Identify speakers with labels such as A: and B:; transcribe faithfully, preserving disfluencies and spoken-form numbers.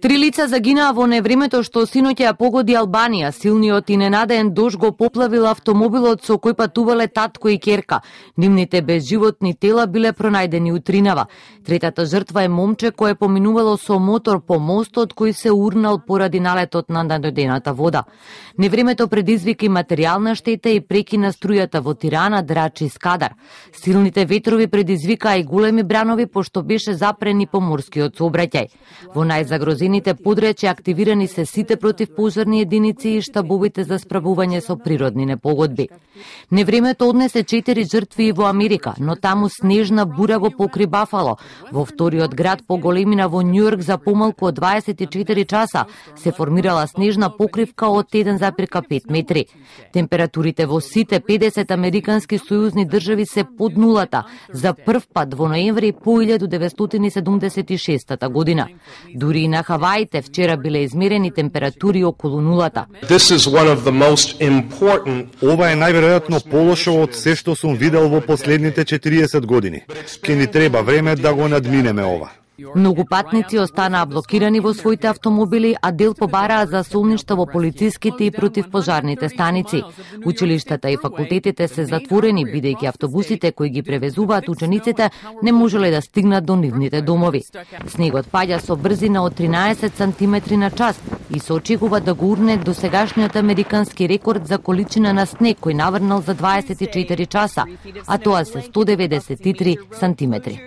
A: Три лица загинаа во невремето што синоќа ја погоди Албанија. Силниот и ненадеен дожд го поплавил автомобилот со кој патувале татко и ќерка. Нивните безживотни тела биле пронајдени утринава. Третата жртва е момче кое поминувало со мотор по мостот кој се урнал поради налетот на надодената вода. Невремето предизвика и материјална штета и прекина струјата во Тирана, Драч и Скадар. Силните ветрови предизвикаа и големи бранови пошто беше запрени поморскиот сообраќај. Во најзагрозените подречја активирани се сите противпожарни единици и штабовите за справување со природни непогодби. Невремето однесе четири жртви и во Америка, но таму снежна бура го покри Бафало. Во вториот град по големина во Њујорк за помалку од дваесет и четири часа се формирала снежна покривка од еден зарез пет метри. Температурите во сите педесет американски сојузни држави се под нулата за прв пат во ноември по илјада деветстотини и седумдесет и шеста година. Дури и на Хаваите вчера биле измерени температури околу нулата.
B: Ова е најверојатно полошо од се што сум видел во последните четириесет години. Ке ни треба време да го надминеме ова.
A: Многу патници останаа блокирани во своите автомобили, а дел побараа за солништа во полициските и противпожарните станици. Училиштата и факултетите се затворени, бидејќи автобусите кои ги превезуваат учениците не можеле да стигнат до нивните домови. Снегот паѓа со брзина од тринаесет сантиметри на час и се очекува да го урне до сегашниот американски рекорд за количина на снег кој наврнал за дваесет и четири часа, а тоа се сто деветдесет и три сантиметри.